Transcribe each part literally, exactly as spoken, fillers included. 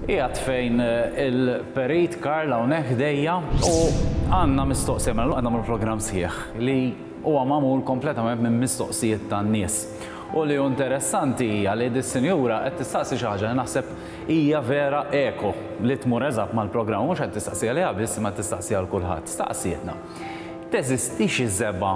Qiegħed fejn eh, il-perit Karl hawnhekk ħdejja u għandna mistoqsija, mela għandna program sħiħ li huwa magħmul kompletament minn mistoqsijiet tan-nies. U li hu interessanti hija li dis-sinjura qed tistaqsi xi ħaġa li naħseb hija vera eko li tmur eżatt mal-programm, mhux qed tistaqsi għaliha biss, ma tistaqsi għal kulħadd. Staqsietna: Teżisti xi żebgħa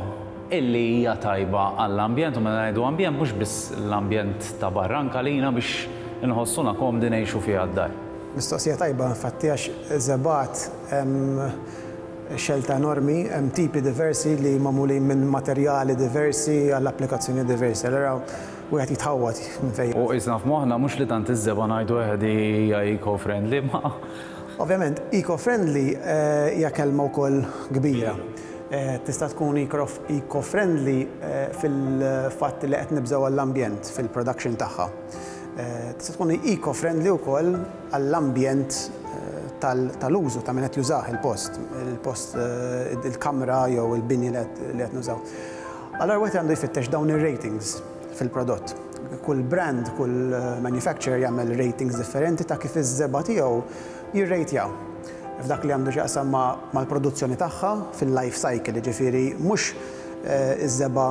illi hija tajba għall-ambjent? U meta ngħidu ambjent, mhux biss l-ambjent ta' barra, anke lina biex inħossuna komdi ngħixu fiha d-dar. Mistoqsija tajba, infatti, għax żebgħat hemm xelta enormi, hemm tipi diversi li magħmulin minn materjali diversi għall applikazzjoni diversi. Allura wieħed jitħawwad minn fejn. U qisna f'moħħna mhux li tant iż-żebgħa ngħidu eħdi hija eco-friendly, ma Ovvjament, eco-friendly eh, hija kelma wkoll kbira. Eh, Tista' tkun eco-friendly eh, fil-fatt li qed nibżgħu għall-ambjent fil-production tagħha. Eh, Tista' tkun eco-friendly wkoll għall-ambjent eh, tal- tal-użu ta' min qed jużah il-post, il-post, eh, il-kamra jew il-bini li qed li qed nużaw. Allora wieħed għandu jfittex dawn ir-ratings fil-prodott. Kull brand, kull eh, manufacturer jagħmel ratings differenti ta' kif iż-żebgħa tiegħu jirrejtja. F'dak li għandu x'jaqsam ma' mal-produzzjoni tagħha fil-life cycle, ġifieri mhux eh, iż-żebgħa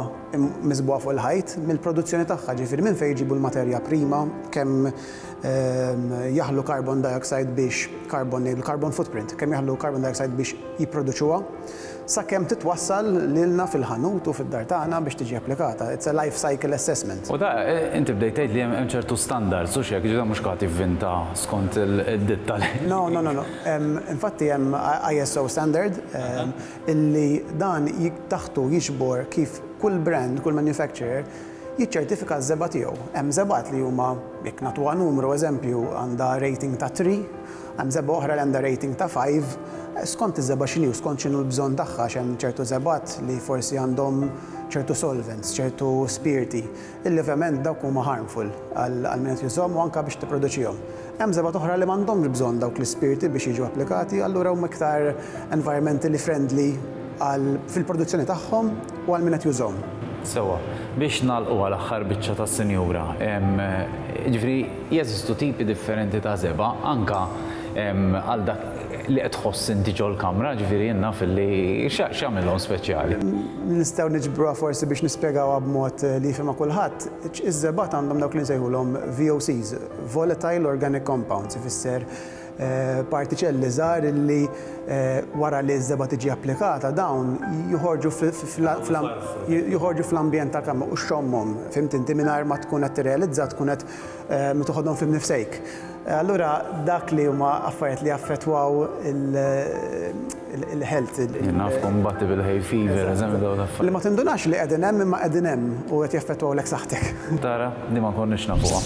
miżbugħa fuq il-ħajt, mill-produzzjoni tagħha, ġifieri minn fejn jġibu l-materja prima, kemm ehm, jaħlu carbon dioxide biex carbon, il-carbon footprint, kemm jaħlu carbon dioxide biex jipproduċuha, sakemm titwassal lilna fil-ħanut u fid-dar tagħna biex tiġi applikata. It's a life cycle assessment. U da, eh, inti bdejt tgħid li hemm ċertu standards, u xek, ġifieri mhux qed tivvinta skont il-ditta li. No, no, no, no. Em, Infatti hemm I S O standard em, illi dan jik- taħtu jiġbor kif kull brand, kull manufacturer jiċċertifika ż-żebgħa tiegħu. Hemm żebgħat li huma, jekk nagħtuha numru, eżempju, għandha rating ta' tlieta, hemm żebgħa oħra li għandha rating ta' ħamsa, skont iż-żebgħa x'inhi u skont x'inhu l-bżonn tagħha, għax hemm ċertu żebgħat li forsi għandhom ċertu solvents, ċertu spirti, illi ovvjament dawk huma harmful għal għal min qed jużhom u anke biex tipproduċihom. Hemm żebgħat oħra li m'għandhomx bżonn dawk l-ispirti biex jiġu applikati, allura huma iktar environmentally friendly għal fil-produzzjoni tagħhom u għal min qed jużhom. Sewwa, biex nagħlqu għal aħħar biċċa tas-sinjura, ġifieri jeżistu tipi differenti ta' żebgħa anka em, għal dak li qed tħoss inti ġol-kamra, ġifieri jenna fil-li x'għamilhom speċjali? Nistgħu niġbruha forsi biex nispjegawha b'mod li jifhimha kulħadd. Iż-żebgħat għandhom dawk li nsejħulhom V O Cs, Volatile Organic Compounds, ifisser eh, partiċelli żgħar illi eh, wara li ż-żebgħa tiġi applikata dawn joħorġu joħorġu fl-ambjent tal-kamra u xxommhom, fhimt inti, mingħajr ma tkun qed tirrealizza tkun qed eh, toħodhom fi mnifsejk. Allura dak li huma affarijiet li jaffettwaw il-health. Naf kombatti bil-hay fever, eżempju, dawn l-affarijiet. Li ma tindunax li qegħdin hemm, imma qegħdin hemm u qed jaffettwawlek saħħtek. Tara, di ma konniex nafuha.